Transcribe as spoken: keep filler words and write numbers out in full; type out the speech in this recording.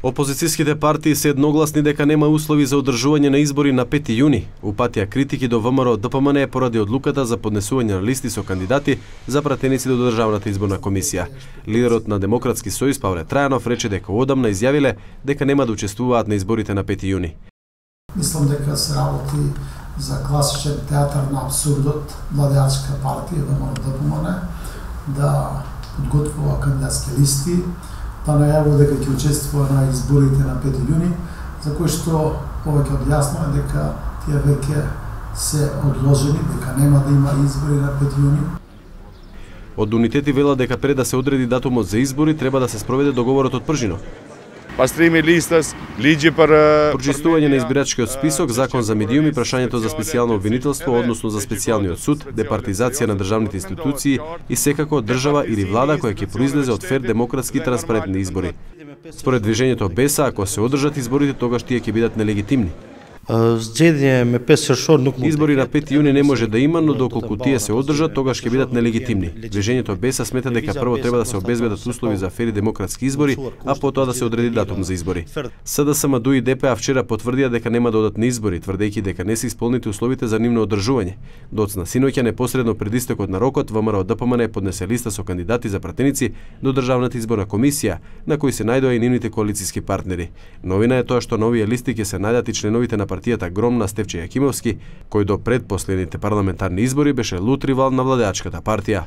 Опозицијските партии се едногласни дека нема услови за одржување на избори на пети јуни. Упатија критики до ВМРО Д П М Н поради одлуката за поднесување на листи со кандидати за пратеници до Државната изборна комисија. Лидерот на Демократски сојуз Павле Трајанов рече дека одамна изјавиле дека нема да учествуваат на изборите на пети јуни. Мислам дека се работи за класичен театар на абсурдот, владеачка партија ВМРО Д П М Н да подготвува кандидатски листи, па најавува дека ќе учествува на изборите на пети јуни, за кои што повеќе од јасно е дека тие веќе се одложени, дека нема да има избори на пети јуни. Од унитети велат дека пред да се одреди датумот за избори треба да се спроведе договорот од Пржино. Прочистување на избирачкиот список, закон за медиуми, прашањето за специјално обвинителство, односно за специјалниот суд, департизација на државните институции и секако држава или влада која ќе произлезе од фер, демократски и транспарентни избори. Според движењето Беса, ако се одржат изборите, тогаш тие ќе бидат нелегитимни. Избори на пети јуни не може да има, но доколку тие се одржат, тогаш ќе бидат нелегитимни. Движењето Беса смета дека прво треба да се обезбедат услови за фери демократски избори, а потоа да се одреди датум за избори. С Д С М Д и Д П А вчера потврдија дека нема да одат на избори, тврдејќи дека не се исполнети условите за нивно одржување. Доцна синоќа непосредно пред истекот на рокот, ВМРО Д П М Н поднесе листа со кандидати за пратеници до Државната изборна комисија, на кои се најдоа и нивните коалициски партнери. Новина е тоа што на овие листи ќе се најдат и членовите на партијата Гром на Стефче Јакимовски, кој до предпоследните парламентарни избори беше лут ривал на владеачката партија.